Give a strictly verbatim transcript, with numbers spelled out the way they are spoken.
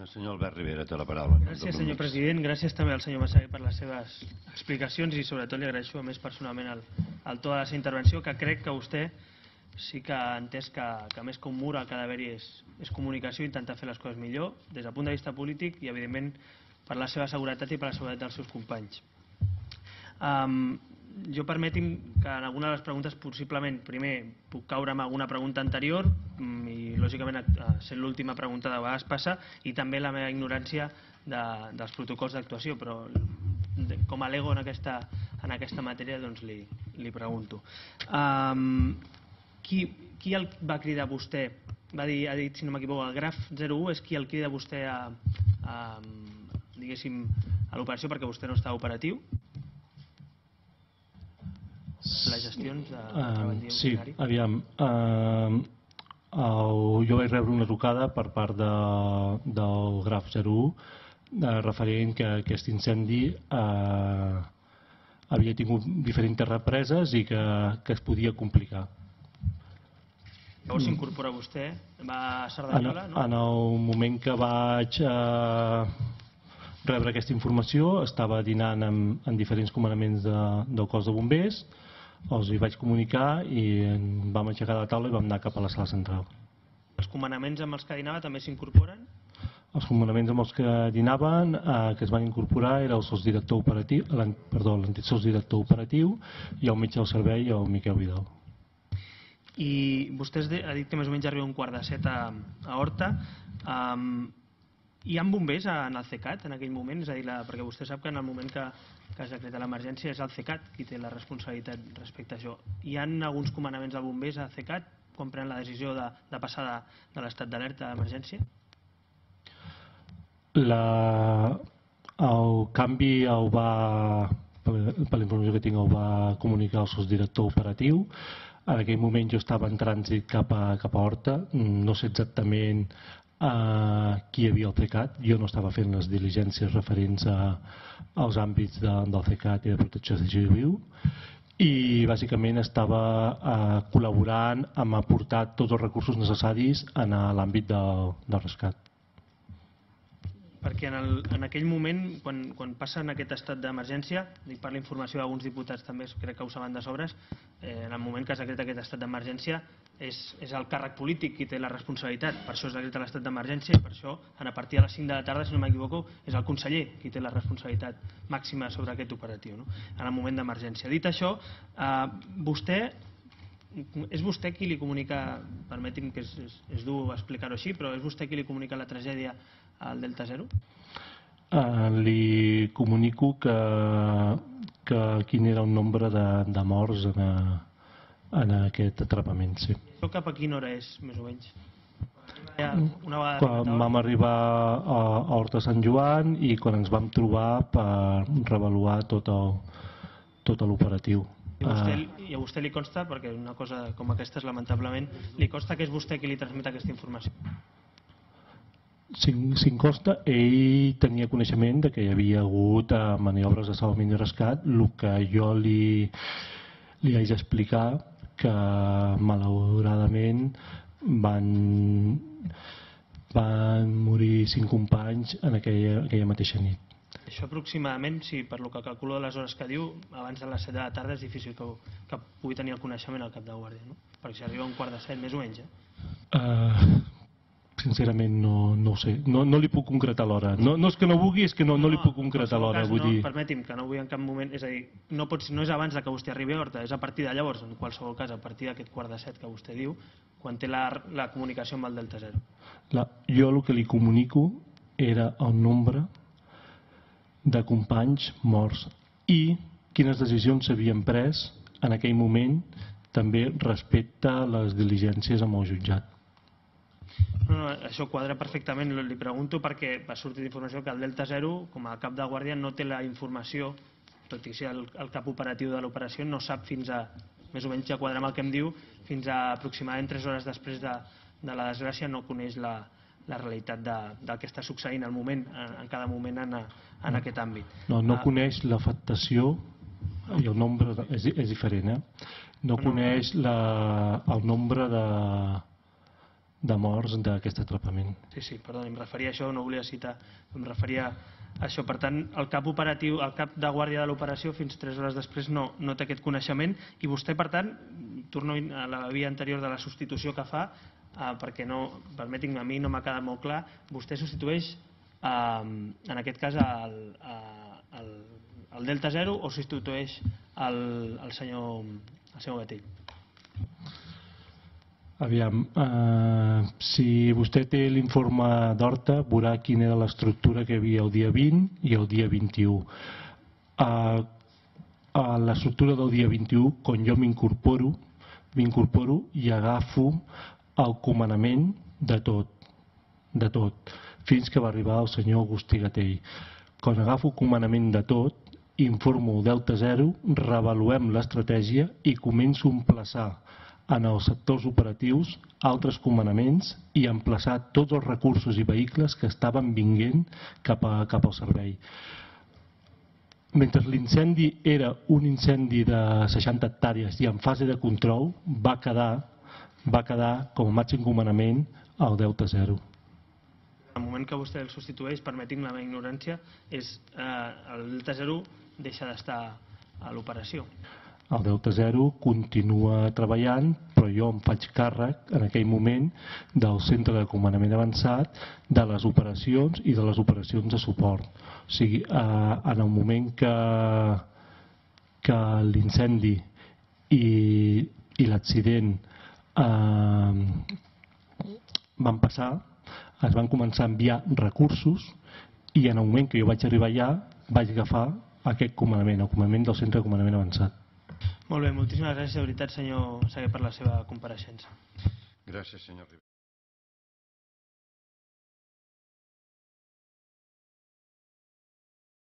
Senyor Albert Rivera, té la paraula. Gràcies, senyor president. Gràcies també al senyor Massagui per les seves explicacions i sobretot li agraeixo a més personalment el, el to de la seva intervenció, que crec que vostè sí que ha entès que, que més que un mur el que ha d'haver-hi és, és comunicació i intentar fer les coses millor des del punt de vista polític i evidentment per la seva seguretat i per la seguretat dels seus companys. Um, jo permeti'm que en alguna de les preguntes possiblement primer puc caure amb alguna pregunta anterior i lògicament sent l'última pregunta de vegades passa i també la meva ignorància de, dels protocols d'actuació, però com a lego en aquesta, en aquesta matèria doncs li, li pregunto. Um, qui, qui el va cridar vostè? Va dir, ha dit, si no m'equivoco, el graf zero u és qui el crida vostè a, a, diguéssim, a l'operació perquè vostè no està operatiu? Les gestions de treball uh, sí, aviam uh, el, jo vaig rebre una trucada per part de, del graf zero u uh, referent que aquest incendi uh, havia tingut diferents represes i que, que es podia complicar. Llavors s'incorpora vostè, va a Cerdanyola, no? En el moment que vaig uh, rebre aquesta informació estava dinant amb, amb diferents comandaments de, del cos de bombers. Els hi vaig comunicar i vam aixecar de la taula i vam anar cap a la sala central. Els comandaments amb els que dinava també s'incorporen? Els comandaments amb els que dinaven, eh, que es van incorporar, era el sotsdirector operatiu, perdó, l'antic sotsdirector operatiu i el metge del servei, el Miquel Vidal. I vostè ha dit que més o menys arriba un quart de set a, a Horta. Um, Hi ha bombers en el CECAT en aquell moment? És a dir, la, perquè vostè sap que en el moment que, que es decreta l'emergència és el CECAT qui té la responsabilitat respecte a això. Hi ha alguns comandaments de bombers a CECAT quan prenen la decisió de, de passar de, de l'estat d'alerta a emergència? La, el canvi el va, per, per la informació que tinc, el va comunicar el sotsdirector operatiu. En aquell moment jo estava en trànsit cap a, cap a Horta, no sé exactament Uh, qui hi havia al CECAT. Jo no estava fent les diligències referents a, als àmbits de, del CECAT i de protecció civil i bàsicament estava uh, col·laborant amb aportar tots els recursos necessaris en l'àmbit del, del rescat. Perquè en, el, en aquell moment, quan, quan passa en aquest estat d'emergència, dic per la informació d'alguns diputats també, crec que ho saben de sobres, eh, en el moment que es decreta aquest estat d'emergència és, és el càrrec polític qui té la responsabilitat, per això es decreta l'estat d'emergència i per això a partir de les cinc de la tarda, si no m'equivoco, és el conseller qui té la responsabilitat màxima sobre aquest operatiu, no? En el moment d'emergència. Dit això, eh, vostè és vostè qui li comunica, permeti'm que és, és, és dur explicar-ho així, però és vostè qui li comunica la tragèdia al Delta Zero? Uh, li comunico que, que quin era el nombre de, de morts en, a, en aquest atrapament, sí. Això cap a quina hora és, més o menys? Ja, una vegada quan vam arribar a, a Horta Sant Joan i quan ens vam trobar per reavaluar tot el, tot l'operatiu. I a, vostè, I a vostè li consta, perquè una cosa com aquesta és lamentablement, li consta que és vostè qui li transmet aquesta informació? Si, si em consta, ell tenia coneixement de que hi havia hagut eh, maniobres de salvament i rescat, el que jo li, li haig d'explicar que malauradament van, van morir cinc companys en aquella, aquella mateixa nit. Això aproximadament, si per lo que calculo de les hores que diu, abans de les set de la tarda és difícil que, que pugui tenir el coneixement al cap de guàrdia, no? Perquè si arriba a un quart de set, més o menys, eh? Uh, sincerament no, no ho sé, no, no li puc concretar l'hora. No, no és que no vulgui, és que no, no li puc concretar l'hora. No, dir... permeti'm, que no vull en cap moment, és a dir, no, pots, no és abans que vostè arribi a Horta, és a partir de llavors, en qualsevol cas, a partir d'aquest quart de set que vostè diu, quan té la, la comunicació amb el Delta Zero. La, jo el que li comunico era el nombre de companys morts i quines decisions s'havien pres en aquell moment també respecte a les diligències amb el jutjat. No, no, això quadra perfectament, li pregunto perquè va sortir d'informació que el Delta Zero com a cap de guàrdia no té la informació, tot i ser el, el cap operatiu de l'operació, no sap fins a, més o menys ja quadra amb el que em diu, fins a aproximadament tres hores després de, de la desgràcia no coneix la, la realitat de, del que està succeint al moment, en, en cada moment en, en aquest àmbit. No, no uh, coneix l'afectació i el nombre, de, és, és diferent, eh? No, no coneix la, el nombre de, de morts d'aquest atrapament. Sí, sí, perdó, em referia a això, no volia citar, em referia a això. Per tant, el cap operatiu, el cap de guàrdia de l'operació, fins tres hores després no, no té aquest coneixement, i vostè, per tant, torno a la via anterior de la substitució que fa, eh, perquè no, permetin-me, a mi no m'ha quedat molt clar, vostè substitueix, eh, en aquest cas, el, el, el Delta Zero o substitueix el, el, senyor, el senyor Gatell? Aviam, eh, si vostè té l'informe d'Horta, veurà quina era l'estructura que hi havia el dia vint i el dia vint-i-u. Eh, a l'estructura del dia vint-i-u, quan jo m'incorporo, m'incorporo i agafo el comandament de tot, de tot, fins que va arribar el senyor Agustí Gatell. Quan agafo el comandament de tot, informo el Delta Zero, reavaluem l'estratègia i començo a emplaçar en els sectors operatius altres comandaments i emplaçar tots els recursos i vehicles que estaven vinguent cap, a, cap al servei. Mentre l'incendi era un incendi de seixanta hectàrees i en fase de control, va quedar, va quedar com a màxim comandament el Delta Zero. El moment que vostè el substitueix, permetin la meva ignorància, és eh, el Delta Zero deixa d'estar a l'operació. El Delta Zero continua treballant, però jo em faig càrrec en aquell moment del centre de comandament avançat, de les operacions i de les operacions de suport. O sigui, eh, en el moment que, que l'incendi i, i l'accident eh, van passar, es van començar a enviar recursos i en el moment que jo vaig arribar allà vaig agafar aquest comandament, el comandament del centre de comandament avançat. Molt bé, moltíssimes gràcies de veritat, senyor Sagué, per la seva compareixença. Gràcies, senyor Rivera.